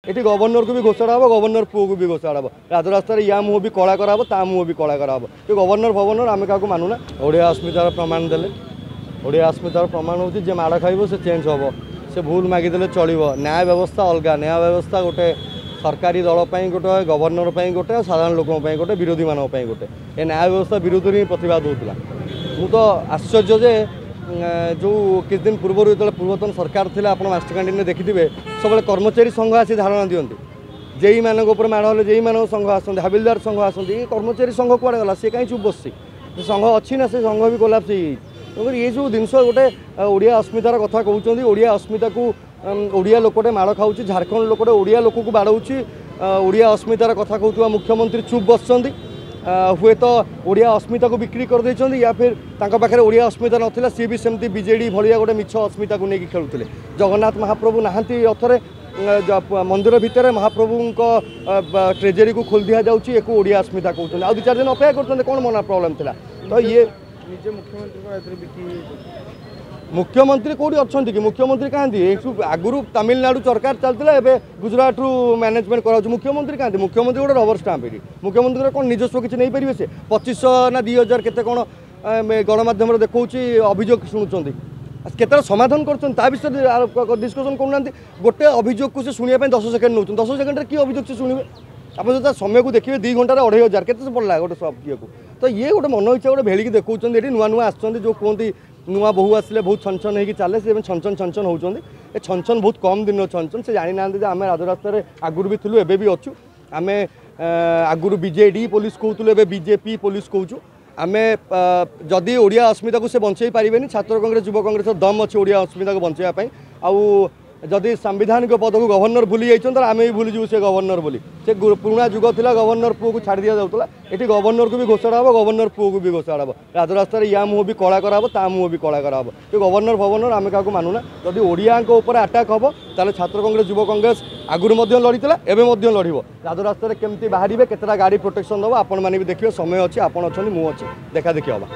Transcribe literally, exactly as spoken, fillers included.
ଏଠି ଗଭର୍ଣ୍ଣରକୁ ବି ଘୋଷଣା ହେବ, ଗଭର୍ଣ୍ଣର ପୁଅକୁ ବି ଘୋଷଣା ହେବ। ରାଜରାସ୍ତାରେ ୟା ମୁହଁ ବି କଳା କରାହବ, ତା ମୁହଁ ବି କଳା କରାହବ। ଏ ଗଭର୍ଣ୍ଣର ଫଭର୍ଣ୍ଣର ଆମେ କାହାକୁ ମାନୁନା। ଓଡ଼ିଆ ଅସ୍ମିତାର ପ୍ରମାଣ ଦେଲେ। ଓଡ଼ିଆ ଅସ୍ମିତାର ପ୍ରମାଣ ହେଉଛି ଯିଏ ମାଡ଼ ଖାଇବ ସେ ଚେଞ୍ଜ ହେବ, ସେ ଭୁଲ ମାଗିଦେଲେ ଚଳିବ। ନ୍ୟାୟ ବ୍ୟବସ୍ଥା ଅଲଗା। ନ୍ୟାୟ ବ୍ୟବସ୍ଥା ଗୋଟେ ସରକାରୀ ଦଳ ପାଇଁ ଗୋଟେ, ଗଭର୍ଣ୍ଣର ପାଇଁ ଗୋଟେ, ଆଉ ସାଧାରଣ ଲୋକଙ୍କ ପାଇଁ ଗୋଟେ, ବିରୋଧୀମାନଙ୍କ ପାଇଁ ଗୋଟେ। ଏ ନ୍ୟାୟ ବ୍ୟବସ୍ଥା ବିରୁଦ୍ଧରେ ହିଁ ପ୍ରତିବାଦ ହେଉଥିଲା। ମୁଁ ତ ଆଶ୍ଚର୍ଯ୍ୟ ଯେ ଯେଉଁ କିଛି ଦିନ ପୂର୍ବରୁ ଯେତେବେଳେ ପୂର୍ବତନ ସରକାର ଥିଲା, ଆପଣ ମାଷ୍ଟର କ୍ୟାଣ୍ଟିନରେ ଦେଖିଥିବେ ସବୁବେଳେ କର୍ମଚାରୀ ସଂଘ ଆସି ଧାରଣା ଦିଅନ୍ତି। ଜେଇମାନଙ୍କ ଉପରେ ମାଡ଼ ହେଲେ ଜେଇମାନଙ୍କ ସଂଘ ଆସନ୍ତି, ହାବିଲଦାର ସଂଘ ଆସନ୍ତି। ଏ କର୍ମଚାରୀ ସଂଘ କୁଆଡ଼େ ଗଲା? ସେ କାହିଁ ଚୁପ୍ ବସିଛି? ସେ ସଂଘ ଅଛି ନା ସେ ସଂଘ ବି କୋଲାପ୍ସ ହେଇଯାଇଛି? ତେଣୁକରି ଏସବୁ ଜିନିଷ ଗୋଟେ ଓଡ଼ିଆ ଅସ୍ମିତାର କଥା କହୁଛନ୍ତି। ଓଡ଼ିଆ ଅସ୍ମିତାକୁ ଓଡ଼ିଆ ଲୋକଟେ ମାଡ଼ ଖାଉଛି, ଝାଡ଼ଖଣ୍ଡ ଲୋକଟେ ଓଡ଼ିଆ ଲୋକକୁ ବାଡ଼ଉଛି, ଓଡ଼ିଆ ଅସ୍ମିତାର କଥା କହୁଥିବା ମୁଖ୍ୟମନ୍ତ୍ରୀ ଚୁପ୍ ବସିଛନ୍ତି। ହୁଏତ ଓଡ଼ିଆ ଅସ୍ମିତାକୁ ବିକ୍ରି କରିଦେଇଛନ୍ତି, ୟା ଫିର୍ ତାଙ୍କ ପାଖରେ ଓଡ଼ିଆ ଅସ୍ମିତା ନଥିଲା, ସିଏ ବି ସେମିତି ବିଜେଡ଼ି ଭଳିଆ ଗୋଟେ ମିଛ ଅସ୍ମିତାକୁ ନେଇକି ଖେଳୁଥିଲେ। ଜଗନ୍ନାଥ ମହାପ୍ରଭୁ ନାହାନ୍ତି ରଥରେ, ମନ୍ଦିର ଭିତରେ ମହାପ୍ରଭୁଙ୍କ ଟ୍ରେଜେରୀକୁ ଖୋଲି ଦିଆଯାଉଛି, ଏକୁ ଓଡ଼ିଆ ଅସ୍ମିତା କହୁଛନ୍ତି। ଆଉ ଦୁଇ ଚାରି ଦିନ ଅପେକ୍ଷା କରୁଛନ୍ତି, କ'ଣ ମନା ପ୍ରୋବ୍ଲେମ୍ ଥିଲା? ତ ଇଏ ନିଜେ ମୁଖ୍ୟମନ୍ତ୍ରୀ ମୁଖ୍ୟମନ୍ତ୍ରୀ କେଉଁଠି ଅଛନ୍ତି କି? ମୁଖ୍ୟମନ୍ତ୍ରୀ କାହାନ୍ତି? ଏଠୁ ଆଗରୁ ତାମିଲନାଡ଼ୁ ସରକାର ଚାଲିଥିଲା, ଏବେ ଗୁଜୁରାଟରୁ ମ୍ୟାନେଜମେଣ୍ଟ କରାଯାଉଛି। ମୁଖ୍ୟମନ୍ତ୍ରୀ କାହାନ୍ତି? ମୁଖ୍ୟମନ୍ତ୍ରୀ ଗୋଟେ ରବର ଷ୍ଟାମ୍ପ। ଏଠି ମୁଖ୍ୟମନ୍ତ୍ରୀଙ୍କର କ'ଣ ନିଜସ୍ୱ କିଛି ନେଇପାରିବେ? ସେ ପଚିଶଶହ ନା ଦୁଇ ହଜାର କେତେ କ'ଣ ଗଣମାଧ୍ୟମରେ ଦେଖାଉଛି, ଅଭିଯୋଗ ଶୁଣୁଛନ୍ତି, କେତେଟା ସମାଧାନ କରୁଛନ୍ତି ତା ବିଷୟରେ ଡିସ୍କସନ୍ କରୁନାହାନ୍ତି। ଗୋଟେ ଅଭିଯୋଗକୁ ସେ ଶୁଣିବା ପାଇଁ ଦଶ ସେକେଣ୍ଡ ନେଉଛନ୍ତି। ଦଶ ସେକେଣ୍ଡରେ କି ଅଭିଯୋଗ ସେ ଶୁଣିବେ? ଆପଣ ଯଦି ତା ସମୟକୁ ଦେଖିବେ, ଦୁଇ ଘଣ୍ଟାରେ ଅଢ଼େଇ ହଜାର କେତେ ପଡ଼ିଲା ଗୋଟେ ସବ୍ ଇଏକୁ। ତ ଇଏ ଗୋଟେ ମନ ଇଚ୍ଛା ଗୋଟେ ଭେଳିକି ଦେଖାଉଛନ୍ତି। ଏଠି ନୂଆ ନୂଆ ଆସୁଛନ୍ତି, ଯେଉଁ କୁହନ୍ତି ନୂଆ ବୋହୂ ଆସିଲେ ବହୁତ ଛନଛନ ହେଇକି ଚାଲେ, ସେ ଏବେ ଛନଛନ ଛନଛନ ହେଉଛନ୍ତି। ଏ ଛନଛନ ବହୁତ କମ୍ ଦିନର ଛନଛନ। ସେ ଜାଣିନାହାନ୍ତି ଯେ ଆମେ ରାଜରାସ୍ତାରେ ଆଗରୁ ବି ଥିଲୁ, ଏବେ ବି ଅଛୁ। ଆମେ ଆଗରୁ ବିଜେଡ଼ି ପୋଲିସ କହୁଥିଲୁ, ଏବେ ବିଜେପି ପୋଲିସ କହୁଛୁ। ଆମେ ଯଦି ଓଡ଼ିଆ ଅସ୍ମିତାକୁ ସେ ବଞ୍ଚେଇ ପାରିବେନି, ଛାତ୍ର କଂଗ୍ରେସ ଯୁବ କଂଗ୍ରେସର ଦମ୍ ଅଛି ଓଡ଼ିଆ ଅସ୍ମିତାକୁ ବଞ୍ଚେଇବା ପାଇଁ। ଆଉ ଯଦି ସାମ୍ବିଧାନିକ ପଦକୁ ଗଭର୍ଣ୍ଣର ଭୁଲି ଯାଇଛନ୍ତି, ତାହେଲେ ଆମେ ବି ଭୁଲିଯିବୁ ସେ ଗଭର୍ଣ୍ଣର ବୋଲି। ସେ ପୁରୁଣା ଯୁଗ ଥିଲା, ଗଭର୍ଣ୍ଣର ପୁଅକୁ ଛାଡ଼ି ଦିଆଯାଉଥିଲା। ଏଠି ଗଭର୍ଣ୍ଣରକୁ ବି ଘୋଷଣା ହେବ, ଗଭର୍ଣ୍ଣର ପୁଅକୁ ବି ଘୋଷଣା ହେବ। ରାଜରାସ୍ତାରେ ୟା ମୁହଁ ବି କଳା କରାହବ, ତା ମୁହଁ ବି କଳା କରାହବ। ଏ ଗଭର୍ଣ୍ଣର ଫଭର୍ଣ୍ଣର ଆମେ କାହାକୁ ମାନୁନା। ଯଦି ଓଡ଼ିଆଙ୍କ ଉପରେ ଆଟାକ୍ ହେବ, ତାହେଲେ ଛାତ୍ର କଂଗ୍ରେସ ଯୁବ କଂଗ୍ରେସ ଆଗରୁ ମଧ୍ୟ ଲଢ଼ିଥିଲା, ଏବେ ମଧ୍ୟ ଲଢ଼ିବ। ରାଜରାସ୍ତାରେ କେମିତି ବାହାରିବେ, କେତେଟା ଗାଡ଼ି ପ୍ରୋଟେକ୍ସନ୍ ଦେବ, ଆପଣମାନେ ବି ଦେଖିବେ। ସମୟ ଅଛି, ଆପଣ ଅଛନ୍ତି, ମୁଁ ଅଛି, ଦେଖା ଦେଖି ହେବା।